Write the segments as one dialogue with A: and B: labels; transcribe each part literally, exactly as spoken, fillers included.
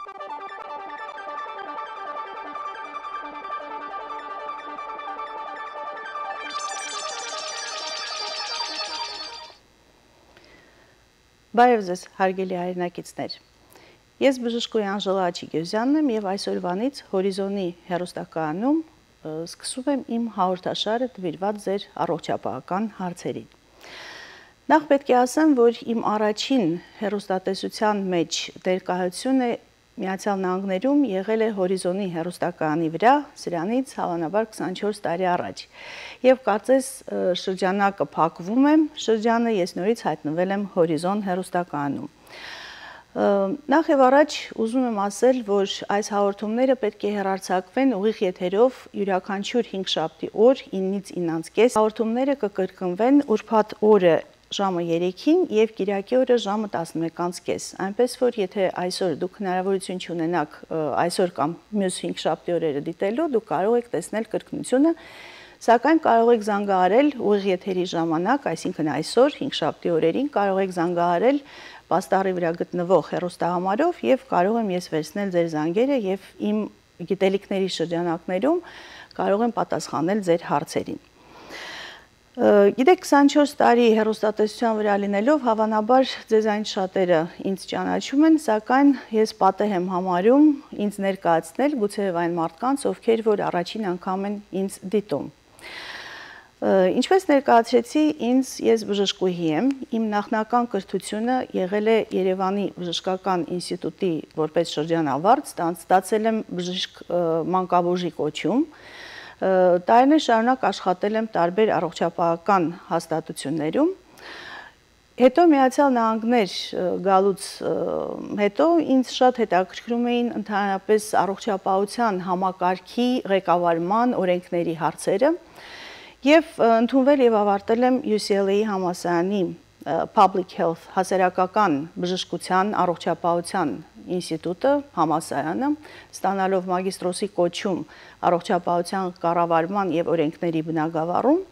A: Բարև ձեզ, հարգելի հայրենակիցներ։ Ես բժշկուհի Անժելա Աչիկոզյանն եմ եւ այսօրվանից Հորիզոնի հեռուստակայանում սկսում եմ իմ հաղորդաշարը նվիրված ձեր առողջապահական հարցերին։ Նախ պետք է ասեմ, որ իմ առաջին հեռուստատեսության մեջ ներկայությունը Միացյալ Նահանգներում եղել է Հորիզոնի հեռուստակայանի վրա, սրանից հավանաբար քսանչորս տարի առաջ։ Եվ կարծես շրջանակը փակվում է, շրջանը ես նորից հայտնվել եմ Հորիզոն հեռուստակայանում։ Նախ եւ առաջ ուզում եմ ասել, որ այս հաղորդումները պետք է հեռարձակվեն ուղիղ եթերով յուրաքանչյուր հինգշաբթի օր ինից իննանց կես։ Հաղորդումները կկրկնվեն ուրբաթ օրը ժամը երեքին եւ կիրակի օրը ժամը տասնմեկից կես։ Այնպես որ եթե այսօր դուք հնարավորություն չունենաք այսօր կամ մյուս հինգշաբթի օրերը դիտելու, դուք կարող եք տեսնել կրկնությունը, սակայն կարող եք զանգահարել ուղիղ եթերի ժամանակ, այսինքն այսօր հինգշաբթի օրերին կարող եք զանգահարել պաստառի վրա գտնվող հեռուստահամարով եւ կարող եմ ես վերցնել ձեր զանգերը եւ իմ գիտելիքների շրջանակներում կարող եմ պատասխանել ձեր հարցերին։ Գիտեք, քսանչորս տարի հեռուստատեսության վրա լինելով, հավանաբար ձեզանից շատերը ինձ ճանաչում են, սակայն ես պատեհ եմ համարում ինձ ներկայացնել գուցեև այն մարդկանց, ովքեր որ առաջին անգամ են ինձ դիտում։ Ինչպես ներկայացրեցի, ինձ ես բժշկուհի եմ, իմ նախնական կրթությունը եղել է Երևանի բժշկական ինստիտուտի որպես շրջանավարտ, ստացել եմ բժիշկ մանկաբուժի կոչում, տարիներ շարունակ աշխատել եմ տարբեր առողջապահական հաստատություններում, հետո Միացյալ Նահանգներ գալուց հետո ինձ շատ հետաքրքրում էին ընդհանրապես առողջապահության համակարգի ղեկավարման օրենքների հարցերը եւ ընդունվել եւ ավարտել եմ յու սի ել էյ համալսարանի Public Health հասարակական բժշկության առողջապահության ինստիտուտը, համալսարանը, ստանալով մագիստրոսի կոչում առողջապահության կառավարման եւ օրենքների բնագավառում,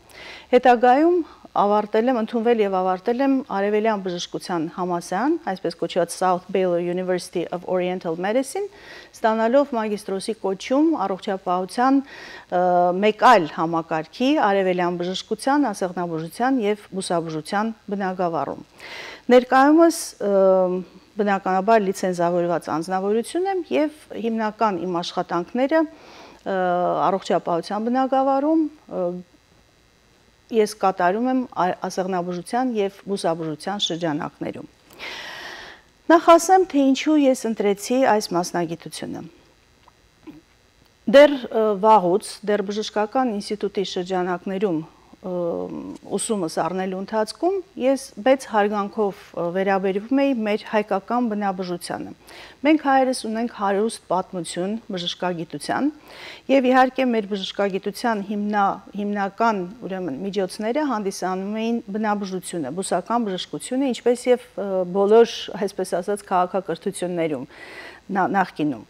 A: հետագայում ավարտել եմ, ընդունվել եւ ավարտել եմ Արևելյան բժշկության համալսարան, այսպես կոչված South Baylor University of Oriental Medicine, ստանալով մագիստրոսի կոչում առողջապահության մեկ այլ համակարգի Արևելյան բժշկության, ասեղնաբուժության եւ բուսաբուժության բնագավառում։ Ներկայումս բնականաբար լիցենզավորված անձնավորություն եմ եւ հիմնական իմ աշխատանքները առողջապահության բնագավառում ես կատարում եմ ասեղնաբուժության եւ բուսաբուժության շրջանակներում։ Նախ ասեմ, թե ինչու ես ընտրեցի այս մասնագիտությունը։ Դեռ վաղուց, դեռ բժշկական ինստիտուտի շրջանակներում ուսումս առնելու ընթացքում ես մեծ հարգանքով վերաբերվում էի մեր հայկական բնաբուժությանը։ Մենք հայերս ունենք հարուստ պատմություն բժշկագիտության եւ իհարկե մեր բժշկագիտության հիմնա, հիմնական ուրեմն միջոցները հանդիսանում էին բնաբուժությունը, բուսական բժշկությունը, ինչպես եւ բոլոր, այսպես ասած, քաղաքակրթություններում նախկինում։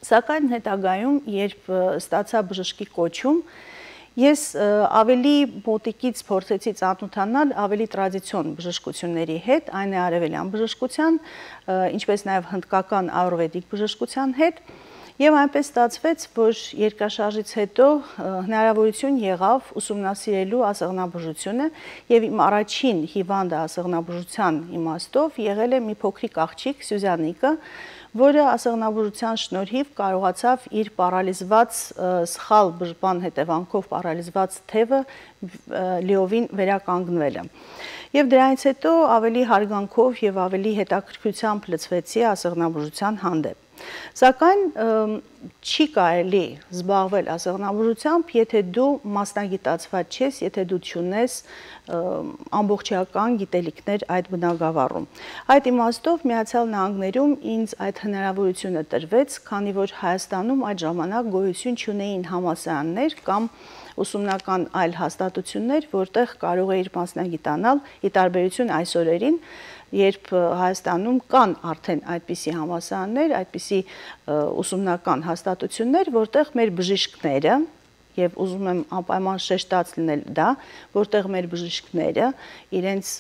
A: Սակայն հետագայում, երբ ստացա բժշկի կոչում, ես ավելի մոտիկից փորձեցի ծանոթանալ ավելի տրադիցիոն բժշկությունների հետ, այն է արևելյան բժշկության, ինչպես նաև հնդկական ආյուրվեդիկ բժշկության հետ, եւ այնպես ստացվեց, որ երկրաշարժից հետո հնարավորություն եղավ ուսումնասիրելու ասեղնաբուժությունը եւ իմ առաջին հիվանդը ասեղնաբուժության իմաստով եղել է մի փոքրիկ աղջիկ Սյուզանիկը, որը ասեղնաբուժության շնորհիվ կարողացավ իր պարալիզված սխալ բժշկման հետևանքով պարալիզված թևը լիովին վերականգնվելը։ Եվ դրանից հետո ավելի հարգանքով եւ ավելի հետաքրքրությամբ լծվեցի ասեղնաբուժության հանդեպ։ Սակայն չի կարելի զբաղվել ասեղնաբուժությամբ, եթե դու մասնագիտացված չես, եթե դու չունես ամբողջական գիտելիքներ այդ բնագավառում։ Այդ իմաստով Միացյալ Նահանգներում ինձ այդ հնարավորությունը տրվեց, քանի որ Հայաստանում այդ ժամանակ գոյություն չունեին համալսարաններ կամ ուսումնական այլ հաստատություններ, որտեղ կարող էիր մասնագիտանալ, ի տարբերություն այսօրերին, երբ Հայաստանում կան արդեն այդպիսի համալսարաններ, այդպիսի ուսումնական հաստատություններ, որտեղ մեր բժիշկները եւ ուզում եմ անպայման շեշտած լինել դա, որտեղ մեր բժիշկները իրենց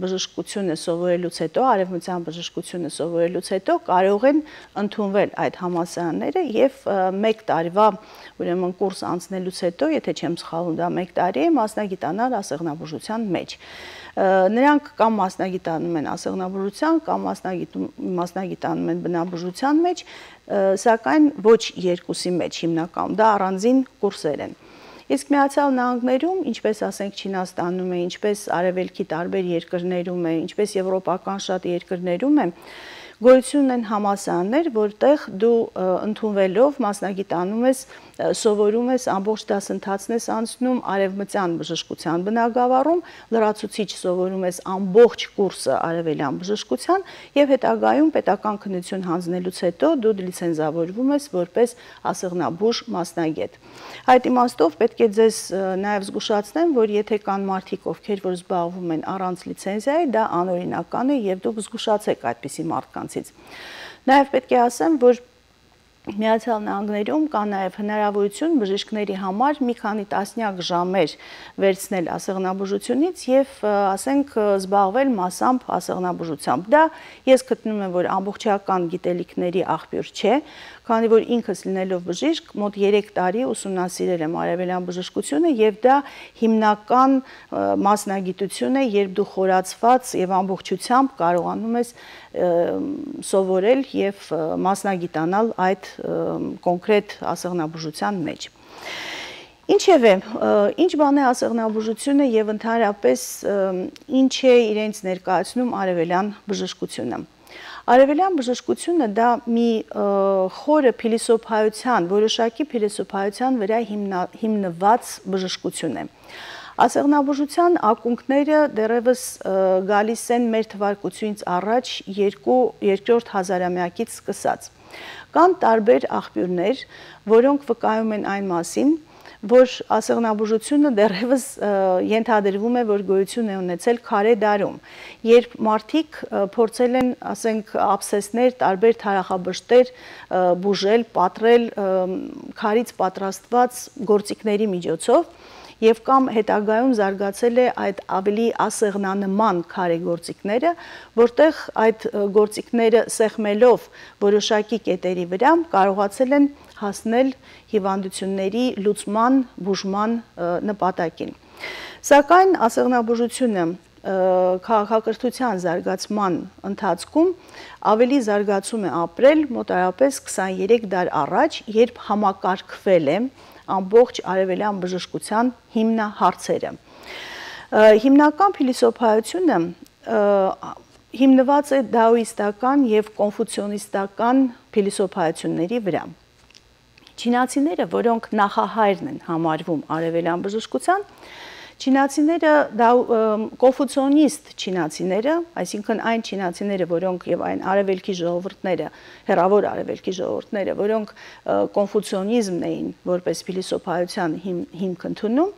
A: բժշկությունը սովորելուց հետո, արևմտյան բժշկությունը սովորելուց հետո կարող են ընդունվել այդ համալսարանները եւ մեկ տարվա ուրեմն կուրս անցնելուց հետո, եթե չեմ սխալվում, դա մեկ տարի է, մասնագիտանալ ասեղնաբուժության մեջ։ Նրանք կամ մասնագիտանում են ասեղնաբուժության, կամ մասնագիտանում են բնաբուժության մեջ, սակայն ոչ երկուսի մեջ հիմնականում, դա առանձին կուրսեր են։ Իսկ Միացյալ Նահանգներում, ինչպես ասենք Չինաստանում է, ինչպես արևելքի տարբեր երկրներում է, ինչպես եվրոպական շատ երկրներում է, գոյություն ունեն համալսարաններ, որտեղ դու ընդունվելով մասնագիտանում ես, սովորում ես, ամբողջ դասընթացն ես անցնում արևմտյան բժշկության բնագավառում, լրացուցիչ սովորում ես ամբողջ կուրսը արևելյան բժշկության եւ հետագայում պետական քննություն հանձնելուց հետո դու լիցենզավորվում ես որպես ասեղնաբույժ մասնագետ։ Այդ իմաստով պետք է ձեզ նաեւ զգուշացնեմ, որ եթե կան մարդիկ, ովքեր որ զբաղվում են առանց լիցենզիայի, դա անօրինական է եւ դուք զգուշացեք այդպիսի մարդկանցից։ Նաեւ պետք է ասեմ, որ Միացյալ Նահանգներում կա նաև հնարավորություն բժիշկների համար մի քանի տասնյակ ժամեր վերցնել ասեղնաբուժությունից եւ ասենք զբաղվել մասամբ ասեղնաբուժությամբ։ Դա ես գտնում եմ, որ ամբողջական գիտելիքների աղբյուր չէ, քանի որ ինքս լինելով բժիշկ մոտ երեք տարի ուսումնասիրել եմ արևելյան բժշկությունը եւ դա հիմնական մասնագիտություն է, երբ դու խորացված եւ ամբողջությամբ կարողանում ես սովորել եւ մասնագիտանալ այդ կոնկրետ ասեղնաբուժության մեջ։ Ինչևէ, ինչ բան է ասեղնաբուժությունը եւ ընդհանրապես ինչ է իրենց ներկայացնում արևելյան բժշկությունը։ Արևելյան բժշկությունը դա մի խորը փիլիսոփայության, որոշակի փիլիսոփայության վրա հիմնված բժշկություն է։ Ասեղնաբուժության ակունքները դեռևս գալիս են մեր թվարկությունից առաջ երկրորդ հազարամյակից սկսած։ Կան տարբեր աղբյուրներ, որոնք վկայում են այն մասին, որ ասեղնաբուժությունը դեռևս ենթադրվում է, որ գոյություն է ունեցել քարե դարում, երբ մարդիկ փորձել են, ասենք, աբսեսներ, տարբեր թարախաբշտեր բուժել, պատռել քարից պատրաստված գործիքների միջոցով, եւ կամ հետագայում զարգացել է այդ ավելի ասեղնանման քարե գործիքները, որտեղ այդ գործիքները սեղմելով որոշակի կետերի վրա կարողացել են հասնել հիվանդությունների լուծման, բուժման նպատակին։ Սակայն ասեղնաբուժությունը քաղաքակրթության զարգացման ընթացքում ավելի զարգացում է ապրել մոտարապես քսաներեք դար առաջ, երբ համակարգվել է ամբողջ արևելյան բժշկության հիմնահարցերը։ Հիմնական փիլիսոփայությունը հիմնված է դաոիստական եւ կոնֆուցիոնիստական փիլիսոփայությունների վրա։ Չինացիները, որոնք նախահայրն են համարվում արևելյան բժշկության, Չինացիները դա կոնֆուցիոնիստ չինացիները, այսինքն այն չինացիները, որոնք եւ այն արևելքի ժողովուրդները, հեռավոր արևելքի ժողովուրդները, որոնք կոնֆուցիոնիզմն էին որպես փիլիսոփայության հիմք ընդունում,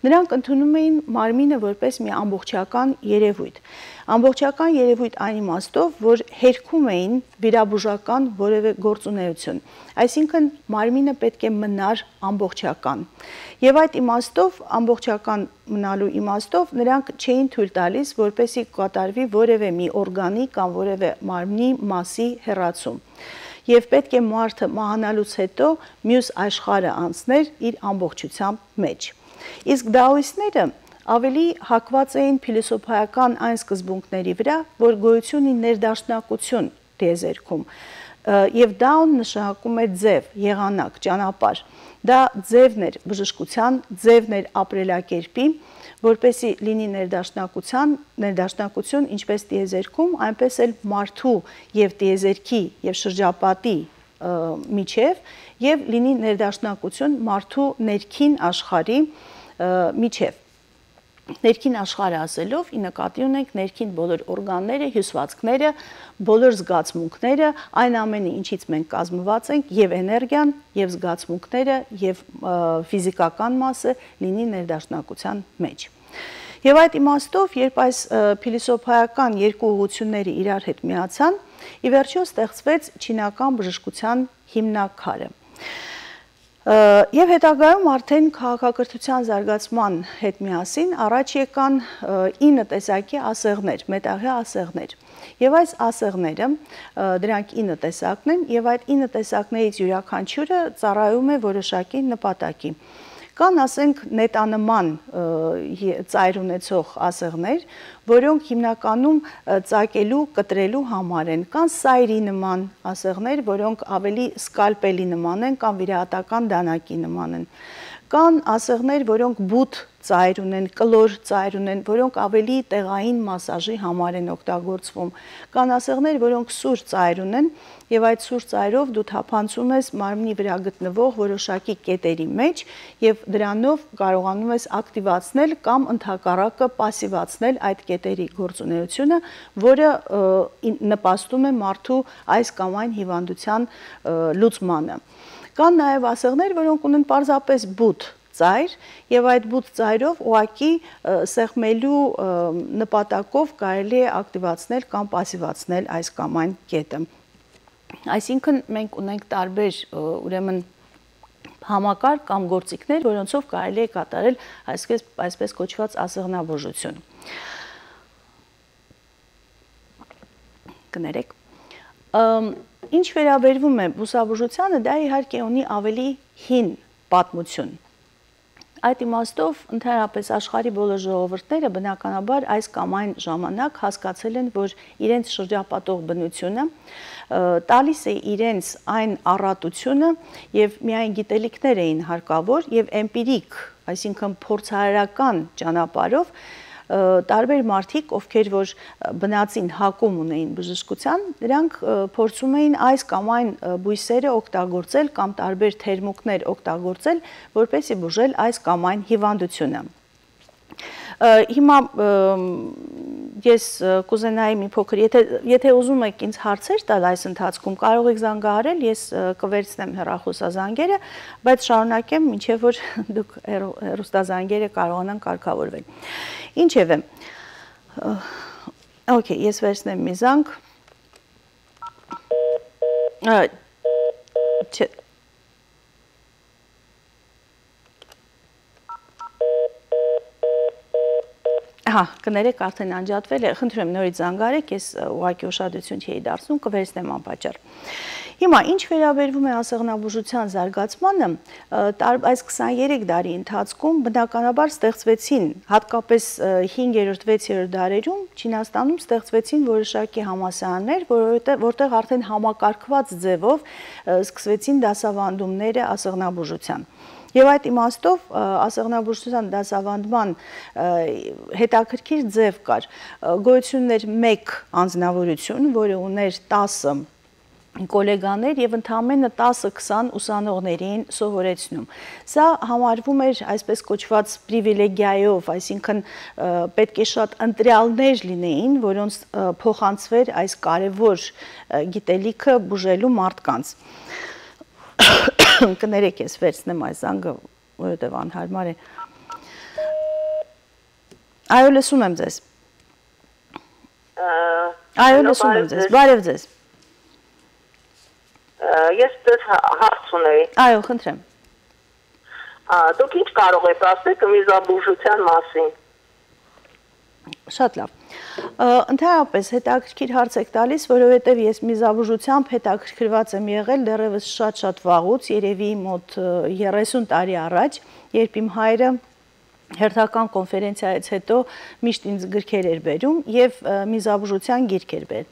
A: նրանք ընդունում էին մարմինը որպես մի ամբողջական երևույթ։ Ամբողջական երևույթ այն իմաստով, որ հերքում էին վիրաբուժական որևէ գործունեություն, այսինքն մարմինը պետք է մնար ամբողջական։ Եվ այդ իմաստով, ամբողջական մնալու իմաստով նրանք չէին թույլ տալիս, որպեսզի կատարվի որևէ մի օրգանի կամ որևէ մարմնի մասի հեռացում։ Եվ պետք է մարդը մահանալուց հետո մյուս աշխարհը անցներ իր ամբողջությամբ մեջ։ Իսկ դաոիստները ավելի հակված էին փիլիսոփայական այն սկզբունքների վրա, որ գոյություն ունի ներդաշնակություն տիեզերքում, եւ դաուն նշանակում է ձև, եղանակ, ճանապարհ։ Դա ձևն էր բժշկության, ձևն էր ապրելակերպի, որպեսզի լինի ներդաշնակության, ներդաշնակություն ինչպես տիեզերքում, այնպես էլ մարդու եւ տիեզերքի եւ շրջապատի միջև եւ լինի ներդաշնակություն մարդու ներքին աշխարհի միջև։ Ներքին աշխարհը ասելով ի նկատի ունենք ներքին բոլոր օրգանները, հյուսվածքները, բոլոր զգացմունքները, այն ամենը, ինչից մենք կազմված ենք, եւ էներգիան, եւ զգացմունքները, եւ ֆիզիկական մասը լինի ներդաշնակության մեջ։ Եվ այդ իմաստով, երբ այս փիլիսոփայական երկու ուղղությունները իրար հետ միացան, ի վերջո ստեղծվեց չինական բժշկության հիմնաքարը։ Եվ հետագայում արդեն քաղաքակրթության զարգացման հետ միասին առաջ եկան ինը տեսակի ասեղներ, մետաղյա ասեղներ։ Եվ այս ասեղները, դրանք ինը տեսակն են, եւ այդ ինը տեսակներից յուրաքանչյուրը ծառայում է որոշակի նպատակի։ Կան, ասենք, նետանման ծայր ունեցող ասեղներ, որոնք հիմնականում ծակելու, կտրելու համար են, կան սայրի նման ասեղներ, որոնք ավելի սկալպելի նման են կամ վիրահատական դանակի նման են, կան ասեղներ, որոնք բութ ծայր ունեն, կլոր ծայր ունեն, որոնք ավելի տեղային մասաժի համար են օգտագործվում, կան ասեղներ, որոնք սուր ծայր ունեն, եւ այդ սուր ծայրով դու թափանցում ես մարմնի վրա գտնվող որոշակի կետերի մեջ եւ դրանով կարողանում ես ակտիվացնել կամ ընդհակառակը պասիվացնել այդ կետերի գործունեությունը, որը նպաստում է մարդու այս կամ այն հիվանդության լուծմանը։ Կան նաեւ ասեղներ, որոնք ունեն պարզապես բութ ծայր եւ այդ բութ ծայրով ուղակի սեղմելու նպատակով կարելի է ակտիվացնել կամ պասիվացնել այս կամ այն կետը։ Այսինքն մենք ունենք տարբեր ուրեմն համակարգ կամ գործիքներ, որոնցով կարելի է կատարել այսպես, այսպես կոչված ասեղնաբուժություն։ Կներեք։ Ինչ վերաբերվում է բուսաբուժությանը, դա իհարկե ունի ավելի հին պատմություն։ Այդ իմաստով ընդհանրապես աշխարհի բոլոր ժողովուրդները բնականաբար այս կամ այն ժամանակ հասկացել են, որ իրենց շրջապատող բնությունը տալիս է իրենց այն առատությունը եւ միայն գիտելիքներ էին հարկավոր եւ էմպիրիկ, այսինքն փորձարարական ճանապարհով տարբեր մարդիկ, ովքեր որ բնածին հակում ունեին բժշկության, նրանք փորձում էին այս կամ այն բույսերը օգտագործել կամ տարբեր թերմուկներ օգտագործել, որպեսզի բուժել այս կամ այն հիվանդությունը։ Հիմա ես կուզենայի մի փոքր, եթե եթե ուզում եք ինձ հարցեր տալ այս ընթացքում, կարող եք զանգահարել, ես կվերցնեմ հեռախոսազանգերը, բայց շարունակեմ, մինչև որ դուք հեռուստազանգերը կարողանան կարգավորվել։ Ինչևէ, օքեյ, ես վերցնեմ մի զանգ։ Չէ։ Հա, կներեք արդեն անջատվել է, խնդրում եմ նորից զանգարեք, ես ուղղակի ուշադրություն չէի դարձնում, կվերցնեմ անպատճառ։ Հիմա ինչ վերաբերվում է ասեղնաբուժության զարգացմանը, այս քսաներեք դարի ընթացքում բնականաբար ստեղծվեցին, հատկապես հինգերորդ վեցերորդ դարերում Չինաստանում ստեղծվեցին որոշակի համալսարաններ, որտեղ արդեն համակարգված ձևով սկսվեցին դասավանդումները ասեղնաբուժության։ Եվ այդ իմաստով ասեղնաբուժության դասավանդման հետաքրքիր ձև կար, գոյություն ուներ մեկ անձնավորություն, որը ուներ տասը գոլեգաներ եւ ընդամենը տասը-քսան ուսանողների էին սովորեցնում։ Սա համարվում էր այսպես կոչված պրիվիլեգիայով, այսինքն պետք է շատ ընտրյալներ լինեին, որոնց փոխանցվեր այս կարևոր գիտելիքը բուժելու մարդկանց։ Կներեք ես վերցնեմ այս զանգը, որովհետև անհարմար է։ Այո, լսում եմ ձեզ։ Այո, լսում եմ ձեզ, բարև ձեզ։
B: Ես դες հարց ունեի։
A: Այո, խնդրեմ։
B: Դուք ինչ կարող եք ասել միզաբուժության մասին։
A: Շատ լավ։ Ընդհանրապես հետաքրքիր հարց եք տալիս, որովհետև ես միզաբուժությամբ հետաքրքրված եմ եղել դեռևս շատ-շատ վաղուց, երևի մոտ երեսուն տարի առաջ, երբ իմ հայրը հերթական կոնֆերենցիայից հետո միշտ ինձ գրքեր էր բերում եւ միզաբուժության գիրք էր բերել։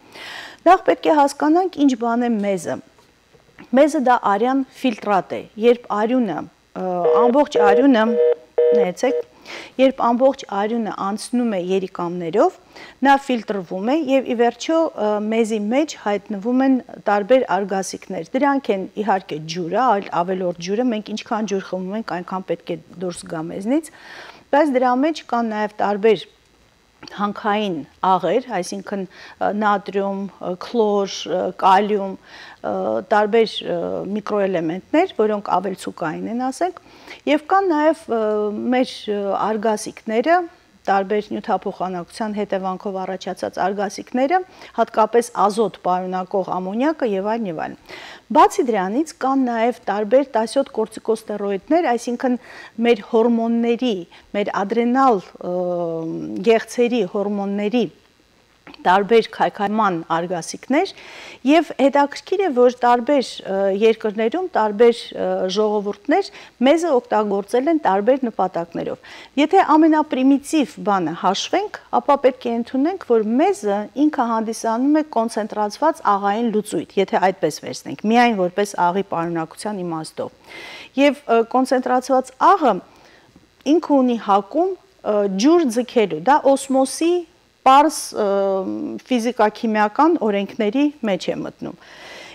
A: Նախ պետք է հասկանանք ինչ բան է մեզը։ Մեզը դա արյան ֆիլտրատ է, երբ արյունը, ամբողջ արյունը, նայեցեք, երբ ամբողջ արյունը անցնում է երիկամներով, նա ֆիլտրվում է եւ ի վերջո մեզի մեջ հայտնվում են տարբեր արգասիքներ։ Դրանք են իհարկե ջուրը, ավելորդ ջուրը, մենք ինչքան ջուր խմում ենք, այնքան պետք է դուրս գա մեզնից, բայց դրա մեջ կան նաեւ տարբեր հանքային աղեր, այսինքն նատրիում, քլոր, կալիում, տարբեր միկրոէլեմենտներ, որոնք ավելցուկային են, ասենք, եւ կան նաեւ մեր արգասիքները, տարբեր նյութափոխանակության հետևանքով առաջացած արգասիքները, հատկապես ազոտ պարունակող ամոնիակը եւ այլն եւ այլն։ Բացի դրանից կան նաեւ տարբեր տասյոթ կորտիկոստերոիդներ, այսինքն մեր հորմոնների, մեր ադրենալ գեղձերի հորմոնների տարբեր քայքայման արգասիքներ եւ հետաքրքիր է, որ տարբեր երկրներում տարբեր ժողովուրդներ մեզը օգտագործել են տարբեր նպատակներով։ Եթե ամենապրիմիտիվ բանը հաշվենք, ապա պետք է ընդունենք, որ մեզը ինքը հանդիսանում է կոնցենտրացված աղային լուծույթ, եթե այդպես վերցնենք, միայն որպես աղի պարունակության իմաստով։ Եվ կոնցենտրացված աղը ինքը ունի հակում ջուր ձգելու, դա օսմոսի պարզ ֆիզիկա-քիմիական օրենքների մեջ է մտնում։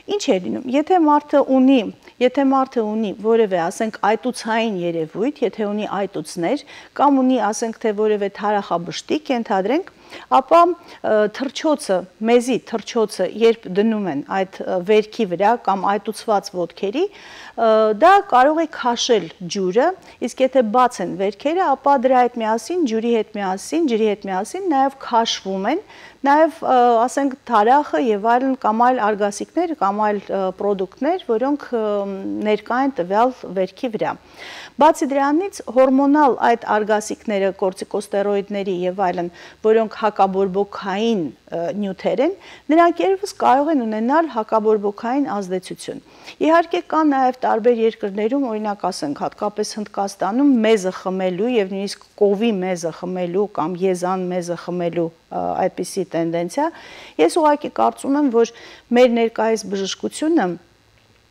A: Ինչ է լինում, եթե մարդը ունի, եթե մարդը ունի որևէ, ասենք, այտուցային երևույթ, եթե ունի այտուցներ, կամ ունի, ասենք, թե որևէ թարախաբշտիկ, ենթադրենք, ապա թռչոցը, մեզի թռչոցը, երբ դնում են այդ վերքի վրա կամ այտուցված ոտքերի, դա կարող է քաշել ջուրը, իսկ եթե բաց են վերքերը, ապա դրա հետ միասին, ջուրի հետ միասին, ջրի հետ միասին նաև քաշվում են, նաև, ասենք, թարախը եւ այլն կամ այլ արգասիքներ կամ այլ պրոդուկտներ, որոնք ներկա են տվյալ վերքի վրա։ Բացի դրանից, հորմոնալ այդ արգասիքները, կորտիկոստերոիդների եւ այլն, որոնք հակաբորբոքային նյութեր են, նրանք երևս կարող են ունենալ հակաբորբոքային ազդեցություն։ Իհարկե կա նաև տարբեր երկրներում, օրինակ ասենք, հատկապես Հնդկաստանում մեզը խմելու եւ նույնիսկ կովի մեզը խմելու կամ եզան մեզը խմելու այդպիսի տենդենցիա։ Ես ուղղակի կարծում եմ, որ մեր ներկայիս բժշկությունը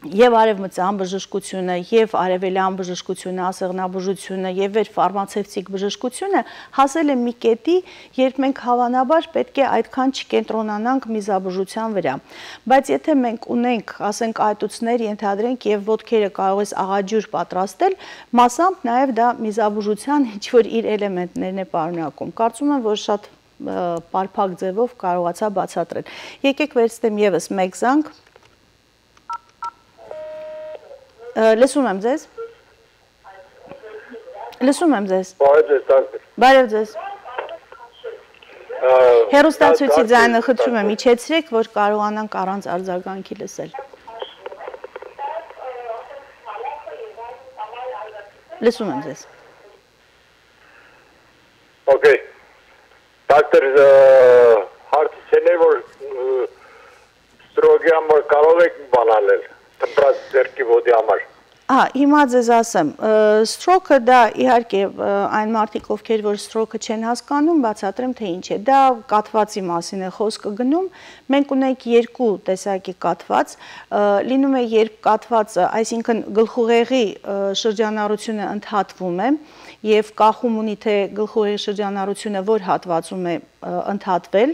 A: եւ արևմտյան բժշկությունը, եւ արևելյան բժշկությունը, ասեղնաբուժությունը եւ վեր ֆարմացևտիկ բժշկությունը հասել է մի կետի, երբ մենք հավանաբար պետք է այդքան չկենտրոնանանք միզաբուժության վրա։ Բայց եթե մենք ունենք, ասենք, այտուցներ ենթադրենք եւ ոտքերը կարող ես աղաջուր պատրաստել, մասամբ նաեւ դա միզաբուժության ինչ-որ իր էլեմենտներն է պարունակում։ Կարծում եմ, որ շատ պարփակ ձևով կարողացա բացատրել։ Եկեք վերցնեմ եւս մեկ զանգ։ Լսում եմ ձեզ։ Լսում եմ ձեզ։
C: Բարև ձեզ, դոկտոր։
A: Բարև ձեզ։ Հեռուստացույցի ձայնը խնդրում եմ իջեցրեք, որ կարողանանք առանց արձագանքի լսել։ Լսում եմ ձեզ։
C: Okay. Դոկտոր, հարցին է, որ ստրոգի համար կարող եք բանալել։ Տպրած ձերքի ոտի համար։
A: Ահա, հիմա ձեզ ասեմ, ստրոքը դա իհարկե այն մարդիկ, ովքեր որ ստրոքը չեն հասկանում, բացատրեմ թե ինչ է։ Դա կաթվածի մասին է խոսքը գնում։ Մենք ունենք երկու տեսակի կաթված, լինում է երբ կաթվածը, այսինքն գլխուղեղի շրջանառությունը ընդհատվում է եւ կախում ունի թե գլխուղեղի շրջանառությունը որ հատվածում է ընդհատվել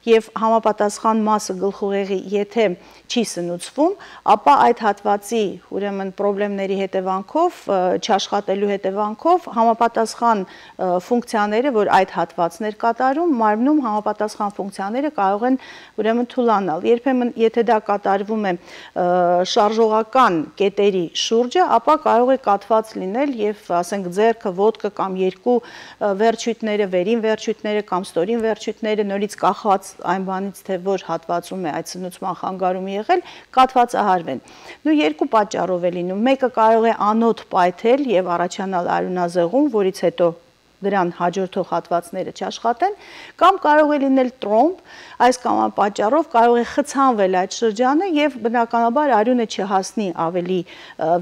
A: եւ համապատասխան մասը գլխուղեղի եթե չի սնուցվում, ապա այդ հատվածի ուրեմն խնդիրների հետևանքով, չաշխատելու հետևանքով համապատասխան ֆունկցիաները, որ այդ հատվածներ կատարում, մարմնում համապատասխան ֆունկցիաները կարող են ուրեմն թուլանալ։ Երբեմն եթե դա կատարվում է շարժողական կետերի շուրջը, ապա կարող է կաթված լինել եւ ասենք ձեռքը, ոտքը կամ երկու վերջույթները, վերին վերջույթները կամ ստորին վերջույթները նորից կախված այն բանից, թե որ հատվածում է այդ սնուցման խանգարումը եղել, կաթվածահարվեն։ Նու երկու պատճառով է լինում։ Մեկը կարող է անոթ պայթել եւ առաջանալ արյունազեղում, որից հետո դրան հաջորդող հատվածները չաշխատեն, կամ կարող է լինել տրոմբ, այս կամ այն պատճառով կարող է խցանվել այդ շրջանը եւ բնականաբար արյունը չհասնի ավելի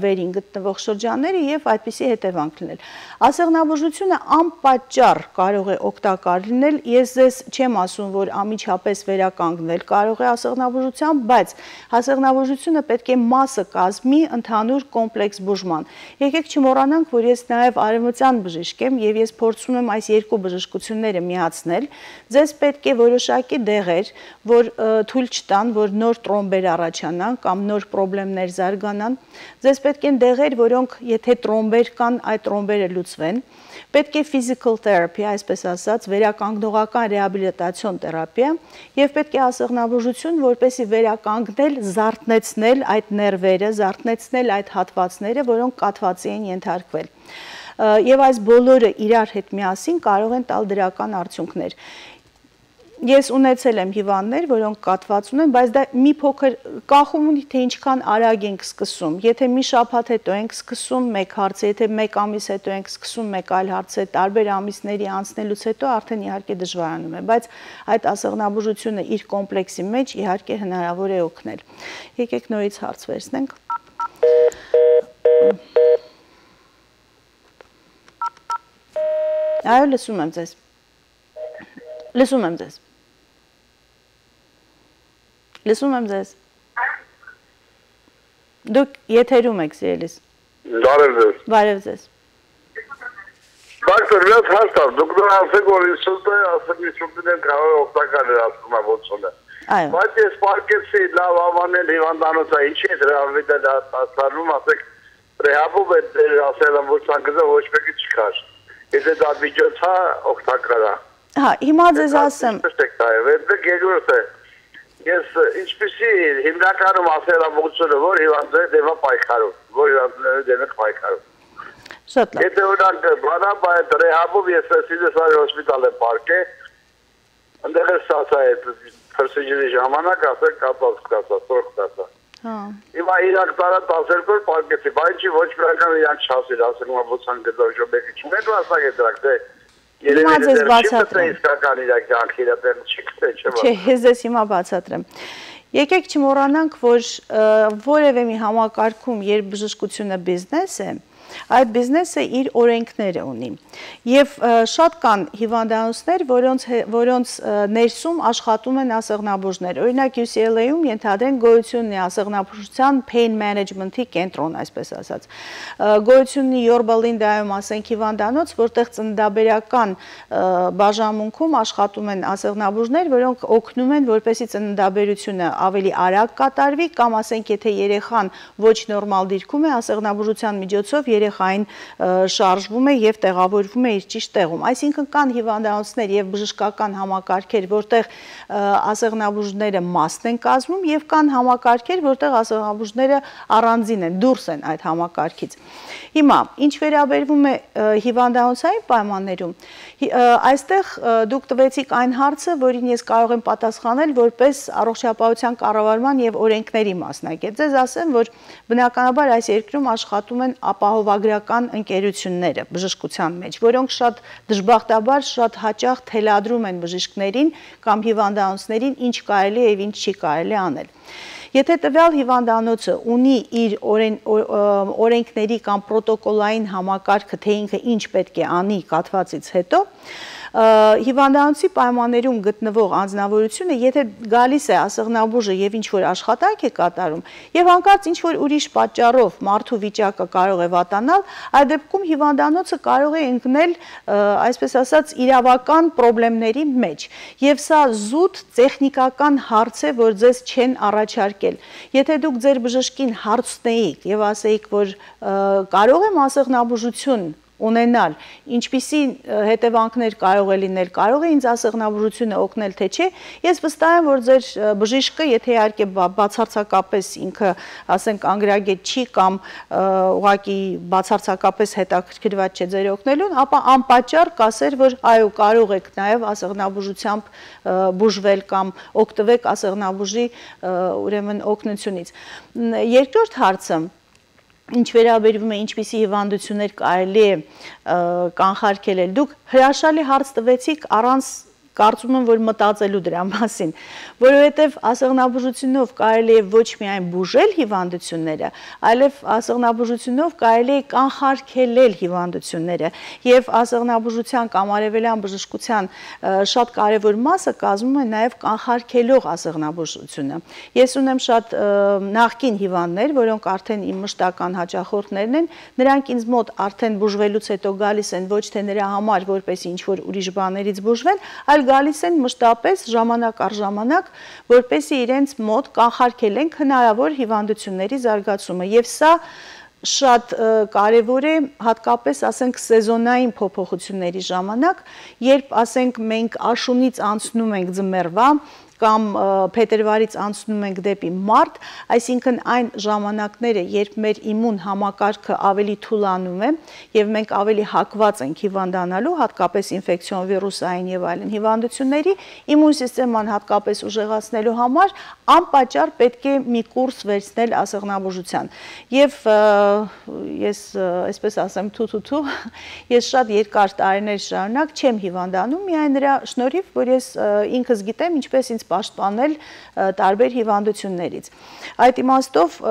A: վերին գտնվող շրջանները եւ այդպիսի հետևանք լինել։ Ասեղնաբուժությունը անպատճառ կարող է օգտակար լինել, ես ձեզ չեմ ասում, որ անմիջապես վերականգնել կարող է ասեղնաբուժության, բայց ասեղնաբուժությունը պետք է մասը կազմի ընդհանուր կոմպլեքս բուժման։ Եկեք չմոռանանք, որ ես նաեւ արևմտյան բժիշկ եմ եւ ես փորձում եմ այս երկու բժշկությունները միացնել, ձեզ պետք է որոշակի դեղեր, որ թույլ չտան, որ նոր տրոմբեր առաջանան կամ նոր խնդիրներ զարգանան, ձեզ պետք են դեղեր, որոնք եթե տրոմբեր կան, այդ տրոմբերը լուծվեն, պետք է physical therapy, այսպես ասած, վերականգնողական ռեհաբիլիտացիոն թերապիա եւ պետք է ասեղնաբուժություն, որպեսզի վերականգնել, զարթնեցնել այդ ներվերը, զարթնեցնել այդ հատվածները, որոնք կաթվածի են ենթարկվել։ եւ այս բոլորը իրար հետ միասին կարող են տալ դրական արդյունքներ։ Ես ունեցել եմ հիվանդներ, որոնք կաթված ունեն, բայց դա մի փոքր կախում ունի, թե ինչքան արագ ենք սկսում։ Եթե մի շաբաթ հետո ենք սկսում մեկ հարցը, եթե մեկ ամիս հետո ենք սկսում մեկ այլ հարցը, տարբեր ամիսների անցնելուց հետո արդեն իհարկե դժվարանում է, բայց այդ ասեղնաբուժությունը իր կոմպլեքսի մեջ իհարկե հնարավոր է օգնել։ Եկեք նորից հարց վերցնենք։ Այո, լսում եմ ձեզ։ Լսում եմ ձեզ։ Լսում եմ ձեզ։ Դուք եթերում եք, սիրելիս։
C: Բարև ձեզ։
A: Բարև ձեզ։
C: Դոկտոր, ես հաստատ, դուք դուք ասեք, որ ինստիտուտը ասեք ինստիտուտին կարող է օգտակար էր ասկումավորությունը։
A: Այո։
C: Բայց ես պարկեցի լավ ամանել հիվանդանոցը, ինչի է դրա վիդել ասարում, ասեք, ռեհաբում է ասել եմ, որ ցանկը ոչ մեկի չկար։ Եթե դա միջոց է, օգտակար է։
A: Հա, հիմա ձեզ ասեմ։
C: Երկրորդ է, ես ինչպեսի հիմնականում ասեղնաբուժությունը, որ հիվանդները դեպա պայքարում, որ հիվանդները դեպա պայքարում։
A: Շատ լավ։
C: Եթե օրինակ բանապ այդ ռեհաբում ես Սիդեսարի հոսպիտալ եմ պարկե, ընդեղ ես ասա այդ պրսիջերի ժամանակ ասել կապած կասա, սորք կասա։
A: Հա։
C: Հիմա իրանք տարա տասերկոր պարկեցի, բայց չի ոչ մեկան իրանք չասիր, ասել ում աբոցան գծով ժոբեկի չունեք ասակ է դրակ, թե
A: Հիմա ձեզ բացատրեմ։
C: Իսկական իրակ յանք իրատեն չի կտե, չէ բա։
A: Չէ, ես ձեզ հիմա բացատրեմ։ Եկեք չմոռանանք, որ որևէ մի համակարգում, երբ բժշկությունը բիզնես է, այդ բիզնեսը իր օրենքները ունի։ Եվ շատ կան հիվանդանոցներ, որոնց որոնց ներսում աշխատում են ասեղնաբուժներ։ Օրինակ յու սի ել էյում ենթադրենք գոյություն ունի ասեղնաբուժության pain management-ի կենտրոն, այսպես ասած։ Գոյություն ունի Yorba Linda-ում, ասենք հիվանդանոց, որտեղ ծննդաբերական բաժանմունքում աշխատում են ասեղնաբուժներ, որոնք օգնում են, որպեսզի ծննդաբերությունը ավելի արագ կատարվի, կամ ասենք եթե երեխան ոչ նորմալ դիրքում է, ասեղնաբուժության միջոցով երեխային շարժվում է եւ տեղավորվում է իր ճիշտ տեղում։ Այսինքն կան հիվանդանոցներ եւ բժշկական համակարգեր, որտեղ ասեղնաբուժները մասն են կազմում եւ կան համակարգեր, որտեղ ասեղնաբուժները առանձին են, դուրս են այդ համակարգից։ Հիմա, ինչ վերաբերվում է հիվանդանոցային պայմաններում, այստեղ դուք տվեցիք այն հարցը, որին ես կարող եմ պատասխանել որպես առողջապահության կառավարման եւ օրենքների մասնագետ։ Ձեզ ասեմ, որ բնականաբար այս երկրում աշխատում են ապահովագրական ընկերությունները բժշկության մեջ, որոնք շատ դժբախտաբար շատ հաճախ թելադրում են բժիշկներին կամ հիվանդանոցներին ինչ կարելի է եւ ինչ չի կարելի անել։ Եթե տվյալ հիվանդանոցը ունի իր օրենքների կամ պրոտոկոլային համակարգը, թե ինքը ինչ պետք է անի կաթվածից հետո, հիվանդանոցի պայմաններում գտնվող անձնավորությունը, եթե գալիս է ասեղնաբուժը եւ ինչ-որ աշխատանք է կատարում, եւ հանկարծ ինչ-որ ուրիշ պատճառով մարդու վիճակը կարող է վատանալ, այդ դեպքում հիվանդանոցը կարող է ընկնել, այսպես ասած, իրավական խնդիրների մեջ։ Եվ սա զուտ տեխնիկական հարց է, որ ձեզ չեն առաջարկել։ Եթե դուք ձեր բժշկին հարցնեիք եւ ասեիք, որ կարող եմ ասեղնաբուժություն ունենալ, ինչպիսի հետևանքներ կարող է լինել, կարող է ինձ ասեղնաբուժությունը օգնել, թե չէ, ես վստահ եմ, որ ձեր բժիշկը, եթե իհարկե բացարձակապես ինքը, ասենք, անգրագետ չի կամ ուղղակի բացարձակապես հետաքրքրված չէ ձեր օգնելուն, ապա անպատճառ կասեր, որ այո, կարող եք նաև ասեղնաբուժությամբ բուժվել կամ օգտվեք ասեղնաբուժի ուրեմն օգնությունից։ Երկրորդ հարցը, ինչ վերաբերվում է ինչպիսի հիվանդություններ կարելի է կանխարգելել, դուք հրաշալի հարց տվեցիք առանց կարծում եմ, որ մտածելու դրա մասին, որովհետև ասեղնաբուժությունով կարելի է ոչ միայն բուժել հիվանդությունները, այլև ասեղնաբուժությունով կարելի է կանխարգելել հիվանդությունները եւ ասեղնաբուժության կամ արևելյան բժշկության շատ կարևոր մասը կազմում է նաեւ կանխարգելող ասեղնաբուժությունը։ Ես ունեմ շատ նախկին հիվանդներ, որոնք արդեն իմ մշտական հաճախորդներն են, նրանք ինձ մոտ արդեն բուժվելուց հետո գալիս են ոչ թե նրա համար, որպես ինչ որ ուրիշ բաներից բուժվեն, այլ գալիս են մշտապես ժամանակ առ ժամանակ, որպեսզի իրենց մոտ կանխարգելենք հնարավոր հիվանդությունների զարգացումը։ Եվ սա շատ կարևոր է հատկապես, ասենք, սեզոնային փոփոխությունների ժամանակ, երբ, ասենք, մենք աշունից անցնում ենք ձմեռվա, կամ փետրվարից անցնում ենք դեպի մարտ, այսինքն այն ժամանակները, երբ մեր իմուն համակարգը ավելի թուլանում է եւ մենք ավելի հակված ենք հիվանդանալու, հատկապես ինֆեկցիոն վիրուսային եւ այլն հիվանդությունների, իմուն սիստեման հատկապես ուժեղացնելու համար անպատճառ պետք է մի կուրս վերցնել ասեղնաբուժության։ Եվ ես այսպես ասեմ թու-թու-թու, ես շատ երկար տարիներ շարունակ չեմ հիվանդանում, միայն նրա շնորհիվ, որ ես ինքս գիտեմ ինչպես ինձ պաշտպանել տարբեր հիվանդություններից։ Այդ իմաստով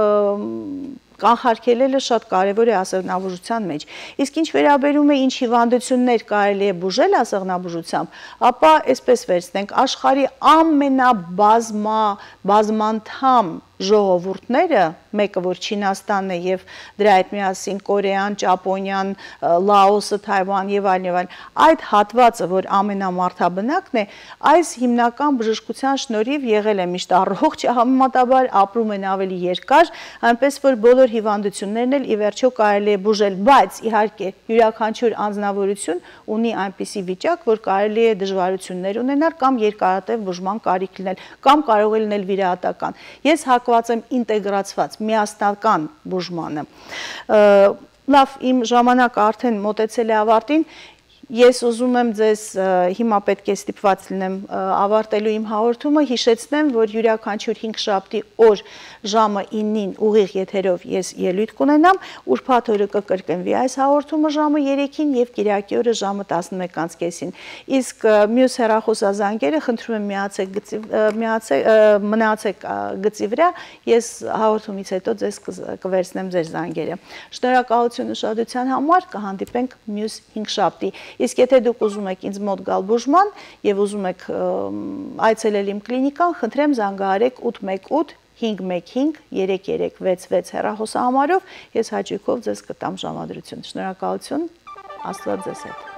A: կանխարգելելը շատ կարևոր է ասեղնաբուժության մեջ։ Իսկ ինչ վերաբերում է ինչ հիվանդություններ կարելի է բուժել ասեղնաբուժությամբ, ապա այսպես վերցնենք աշխարհի ամենաբազմա բազմանդամ ժողովուրդները, մեկը որ Չինաստանն է եւ դրա հետ միասին Կորեան, Ճապոնիան, Լաոսը, Թայվան եւ այլն եւ այլն, այդ հատվածը, որ ամենամարդաբնակն է, այս հիմնական բժշկության շնորհիվ եղել է միշտ առողջ, համեմատաբար ապրում են ավելի երկար, այնպես որ բոլոր հիվանդություններն էլ ի վերջո կարելի է բուժել, բայց իհարկե յուրաքանչյուր անձնավորություն ունի այնպիսի վիճակ, որ կարելի է դժվարություններ ունենալ կամ երկարատև բուժման կարիք լինել, կամ կարող է լինել վիրահատական։ Ես հակված եմ ինտեգրացված միասնական բուժմանը։ Լավ, իմ ժամանակը արդեն մոտեցել է ավարտին։ Ես ուզում եմ ձեզ հիմա պետք է ստիպված լինեմ ավարտելու իմ հաղորդումը, հիշեցնեմ, որ յուրաքանչյուր հինգշաբթի օր ժամը իննին ուղիղ եթերով ես ելույթ կունենամ, ուրբաթ օրը կկրկնվի այս հաղորդումը ժամը երեքին եւ կիրակի օրը ժամը տասնմեկ կեսին։ Իսկ մյուս հեռախոսազանգերը խնդրում եմ միացեք գծի միացեք մնացեք գծի վրա, ես հաղորդումից հետո ձեզ կվերցնեմ ձեր զանգերը։ Շնորհակալություն ուշադրության համար, կհանդիպենք մյուս հինգշաբթի։ Իսկ եթե դուք ուզում եք ինձ մոտ գալ բուժման եւ ուզում եք այցելել իմ կլինիկան, խնդրեմ զանգահարեք ութ մեկ ութ հինգ մեկ հինգ երեք երեք վեց վեց հեռախոսահամարով, ես հաճույքով ձեզ կտամ ժամադրություն։ Շնորհակալություն, Աստված ձեզ հետ։